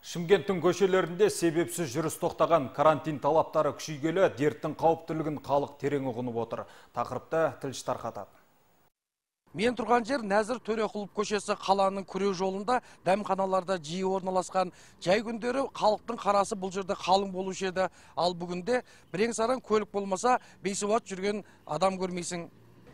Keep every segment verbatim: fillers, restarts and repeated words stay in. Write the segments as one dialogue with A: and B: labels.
A: Шымкенттин көшелеринде себепсиз жүрүс токтаган, карантин талаптары күчөйгөлө дерттин кауптуулугун калык терең угунуп отур. Тақырыпта тилчи таркатат.
B: Мен турган жер Назыр Төрөкулов көчөсү калаанын күрөө жолунда дамканаларда жиі орналаскан. Жай күндөрү калктын карасы бул жерде калың болушу эди. Ал бүгүндө бирең саран көлүк болмаса бейсубат жүргөн адам көрмөйсүң.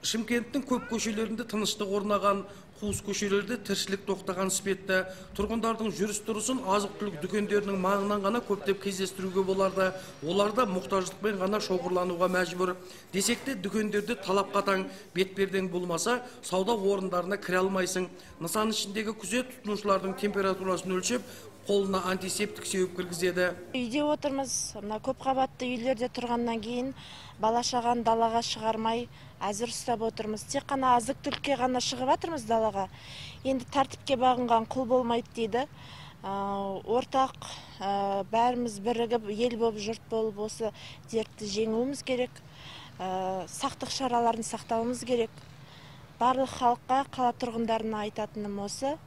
B: Шымкенттин көп көшелеринде тыныштык орнаган, кууз көчөлөрдө тирчилик токтогон спетте тургундардын жүрүс турусун азык-түлүк дүкөндөрүнүн маңынан гана көптөп кездестирүүгө боларды. Олар да муктаждык менен гана шогурланууга мажбур. Десек де дүкөндөрдө талап катаң, бетпердең болмаса, сауда орундарына кире алмайсың. Нысанын ичиндеги күзөт тутунуучулардын температурасын өлчөп, колуна антисептик себеп киргизеді.
C: Үйде отырмыз, мына көп кабатты үйлерде тургандан кийин бала шаганы далага чыгармай азыр ұстап отырмыз. Тек қана азык-түлүккө гана чыгып атырмыз далага. Енді тартипке багынган кул болмойт дейді. Ортак бәріміз бірігіп, ел болып, жұрт болып осы дертті жеңуіміз керек. Сақтық шараларын сактауымыз керек. Барлық халыққа, кала тургундарына айтатыным осы.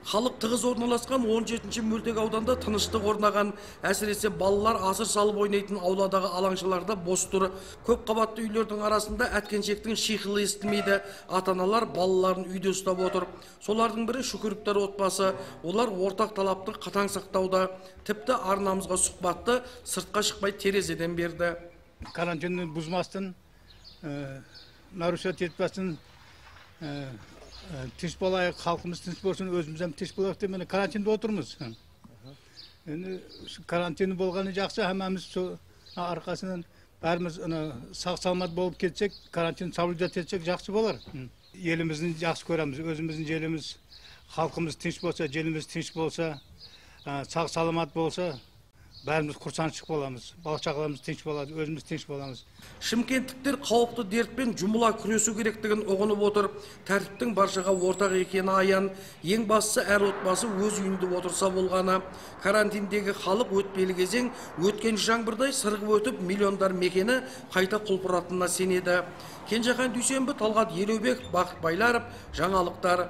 B: Халық тығыз орналасқан он жетинчи мөлтек ауданда тыныштык орнаган, әсіресе балалар асыр салып ойнайтын ауладагы алаңчыларда бос тур. Көп кабатты үйлөрдүн арасында әткеншектин шыйкылы эстилмейди. Ата-аналар балаларын үйдө ұстап отур. Солардын бири Шүкүрүктөр отбасы. Олар ортак талапты катаң сактауда. Типти арнамызга сухбатты сыртка чыкпай терезеден берди.
D: Карантинди бузмастын, нарушать этпестин, тиш болайық, халқымыз тиш болсын, өзімізден тиш болайық деп міне карантинде отырмыз. Енді карантин болғаны жақсы, хамамыз арқасынан бәріміз сақ саламат болып кетсек, карантин соблюдать етсек жақсы болар. Елімізді жақсы көреміз, өзіміздің желіміз, халқымыз тиш болса, желіміз тиш болса, сақ саламат болса, бәріміз курсанчык боламыз, бала-чакаларыбыз тинч болады, өзүбүз тинч боламыз.
B: Шымкенттиктер кауіпті дертпен жұмыла күресу керектігін оғынып отыр. Тәртіптің баршаға ортақ екені аян. Ең бастысы әр отбасы өз үйінде отырса болғаны. Карантиндегі халық өтпелі кезең өткен жаңбырдай сырғып өтіп, миллиондар мекені қайта құлпыратынына сенеді. Кенжехан Дүйсенбі, Талғат Елеубек, Бақыт Байларов, жаңалықтар.